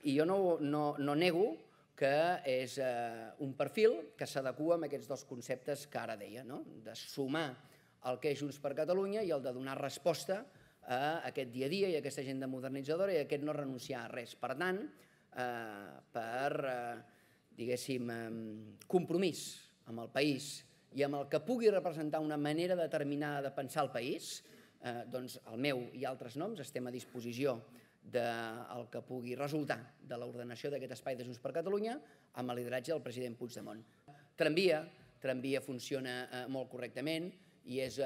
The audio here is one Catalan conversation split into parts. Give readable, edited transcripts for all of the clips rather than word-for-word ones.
I jo no nego que és un perfil que s'adequa a aquests dos conceptes que ara deia, de sumar el que és Junts per Catalunya i el de donar resposta a aquest dia a dia i a aquesta agenda modernitzadora i a aquest no renunciar a res. Per tant, per, diguéssim, compromís amb el país i amb el que pugui representar una manera determinada de pensar el país, doncs el meu i altres noms estem a disposició del que pugui resultar de l'ordenació d'aquest espai de Junts per Catalunya amb el lideratge del president Puigdemont. Tramvia funciona molt correctament i és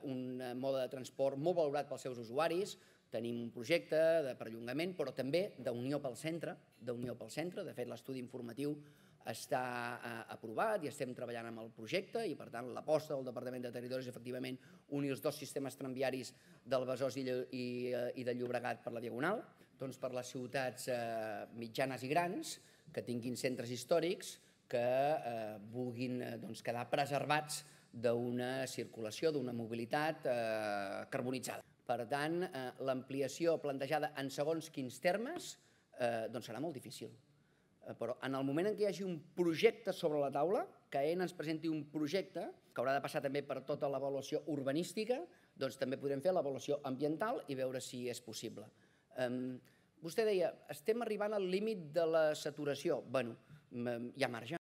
un mode de transport molt valorat pels seus usuaris. Tenim un projecte de perllongament, però també d'unió pel centre. De fet, l'estudi informatiu està aprovat i estem treballant amb el projecte i, per tant, l'aposta del Departament de Territori és efectivament unir els dos sistemes tramviaris del Besòs i del Llobregat per la Diagonal, doncs per les ciutats mitjanes i grans que tinguin centres històrics que vulguin quedar preservats d'una circulació, d'una mobilitat carbonitzada. Per tant, l'ampliació plantejada en segons quins termes serà molt difícil. Però en el moment en què hi hagi un projecte sobre la taula, que AENA ens presenti un projecte, que haurà de passar també per tota l'avaluació urbanística, doncs també podrem fer l'avaluació ambiental i veure si és possible. Vostè deia, estem arribant al límit de la saturació. Bé, hi ha marge.